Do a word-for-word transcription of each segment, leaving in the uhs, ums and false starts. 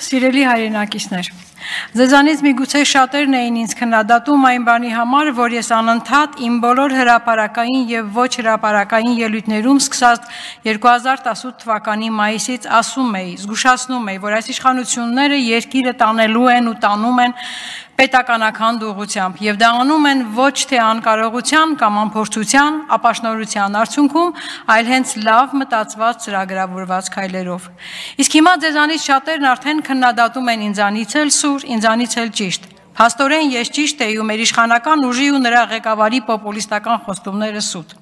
Սիրելի հայրենակիցներ, ձեզանից միգուցե շատերն էին ինձ քննադատում այն բանի համար, որ ես անընդհատ իմ բոլոր հրապարակային եւ ոչ հրապարակային ելույթներում սկսած երկու հազար տասութ թվականի մայիսից ասում էի, զգուշացնում էի, որ այս իշխանությունները երկիրը տանելու են ու տանում են պետականական ուղղությամբ եւ դա անում են ոչ թե անկարողության կամ անփորձության, ապաշնորհության արդյունքում, այլ հենց լավ մտածված ծրագրավորված քայլերով։ Իսկ հիմա ձեզանից շատերն արդեն քննադատում են ինձանից էլ սուր, ինձանից էլ ճիշտ։ Փաստորեն ես ճիշտ էի ու մեր իշխանական ուժի ու նրա ղեկավարի պոպուլիստական խոստումները սուտ։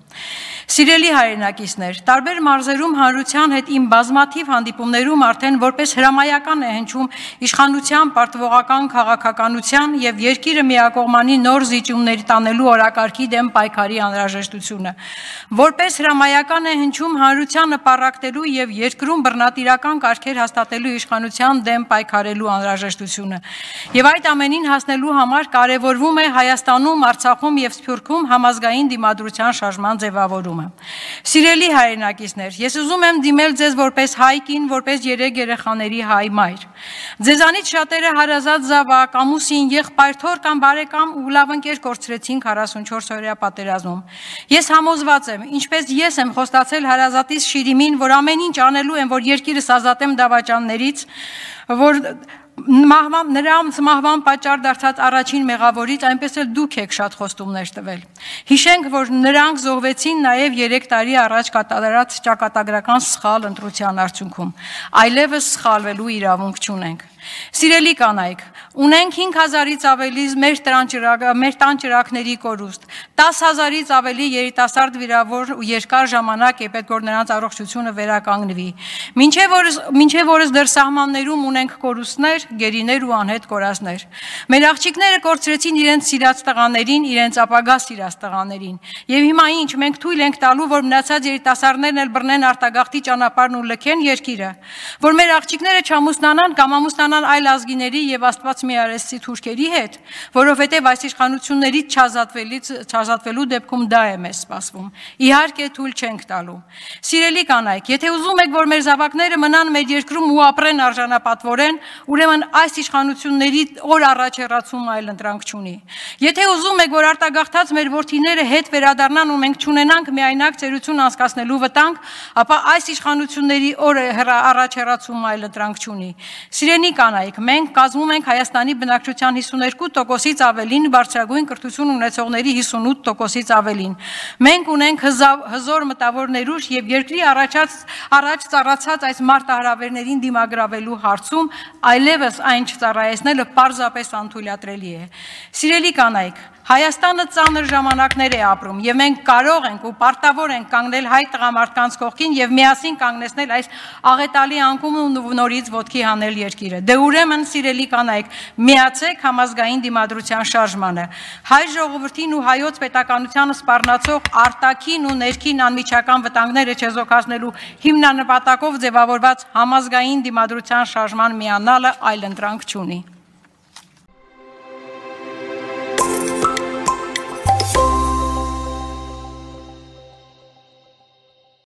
Սիրելի հայրենակիցներ, տարբեր մարզերում հանրության հետ իմ բազմաթիվ հանդիպումներում արդեն որպես հրամայական է հնչում իշխանության պարտվողական քաղաքականության եւ երկիրը միակողմանի նոր զիջումների տանելու օրակարգի դեմ պայքարի անհրաժեշտությունը։ Որպես հրամայական է հնչում հանրությանը պառակտելու եւ երկրում բռնատիրական կարգեր հաստատելու իշխանության դեմ պայքարելու անհրաժեշտությունը։ Եվ այդ ամենին հասնելու համար կարևորվում է Հայաստանում, Արցախում եւ Սփյուռքում համազգային դիմադրության շարժման ձևավորումը։ Սիրելի հայրենակիցներ, ես ուզում եմ դիմել ձեզ որպես հայ կին, որպես երեք երեխաների հայ մայր։ Ձեզանից շատերը հարազատ զավակ, ամուսին, եղբայր, թոռ կամ բարեկամ ու լավ ընկեր կորցրեցին քառասունչորս օրյա պատերազմում։ Ես համոզված եմ, ինչպես ես եմ խոստացել հարազատիս Շիրիմին, որ ամեն ինչ անելու եմ, որ երկիրս ազատեմ դավաճաններից, որ Մահվան, նրանց մահվան պատճառ դարձած առաջին մեղավորից, այնպես էլ դուք եք շատ խոստումներ տվել։ Հիշենք, որ նրանք զոհվեցին նաև երեք տարի առաջ կատարած ճակատագրական սխալ ընտրության արդյունքում։ Այլևս սխալվելու իրավունք չունենք։ Սիրելի կանայք, ունենք հինգ հազարից ավելի մեր տան ճրագների կորուստ, տասը հազարից ավելի երիտասարդ վիրավոր ու երկար ժամանակ է պետք որ նրանց առողջությունը վերականգնվի։ Մինչև օրս դեռ սահմաններում ունենք կորուստներ, գերիներ ու անհետ կորածներ։ Մեր աղջիկները կորցրեցին իրենց սիրած տղաներին, իրենց ապագա սիրած տղաներին։ Եվ հիմա ինչ, մենք թույլ ենք տալու, որ մնացած երիտասարդներն էլ բռնեն արտագաղթի ճանապարհն ու լքեն երկիրը, որ մեր աղջիկները չամուսնանան կամ ամուսնանան այլ ազգիների եւ Աստված մի արեցի թուրքերի հետ, որովհետեւ այս իշխանություններից չազատվելու դեպքում դա է մեզ սպասվում։ Իհարկե թույլ չենք տալու։ Սիրելի կանայք, եթե ուզում եք, որ մեր զավակները մնան մեր երկրում ու ապրեն արժանապատվորեն, ուրեմն այս իշխանությունների օր առաջ հեռացում այլ ընտրանք չունի։ Եթե ուզում եք, որ արտագաղթած մեր որդիները հետ վերադառնան ու մենք չունենանք միայնակ ծերություն անցկացնելու վտանգ, ապա այս իշխանությունների օր առաջ հեռացում այլ ընտրանք չունի։ Սիրելի կանայք, մենք կազմում ենք Հայաստանի բնակչության հիսուներկու տոկոսից ավելին, բարձրագույն կրթություն ունեցողների հիսունութ տոկոսից ավելին։ Մենք ունենք հզոր մտավոր ներուժ եւ երկրի առաջ ծառացած այս մարտահրավերներին դիմագրավելու հարցում այլևս այն չծառայեցնելը պարզապես անթույլատրելի է։ Սիրելի կանայք, Հայաստանը ծանր ժամանակներ է ապրում եւ մենք կարող ենք ու պարտավոր ենք կանգնել հայ տղամարդկանց կողքին եւ միասին կանգնեցնել այս աղետալի անկումն ու նորից ոտքի հանել երկիրը։ Դե ուրեմն, սիրելի կանայք, միացեք համազգային դիմադրության շարժմանը։ Հայ ժողովրդին ու հայոց պետականությանը սպառնացող արտաքին ու ներքին անմիջական վտանգները չեզոքացնելու հիմնանպատակով ձևավորված համազգային դիմադրության շարժման միանալը այլ ընտրանք չունի։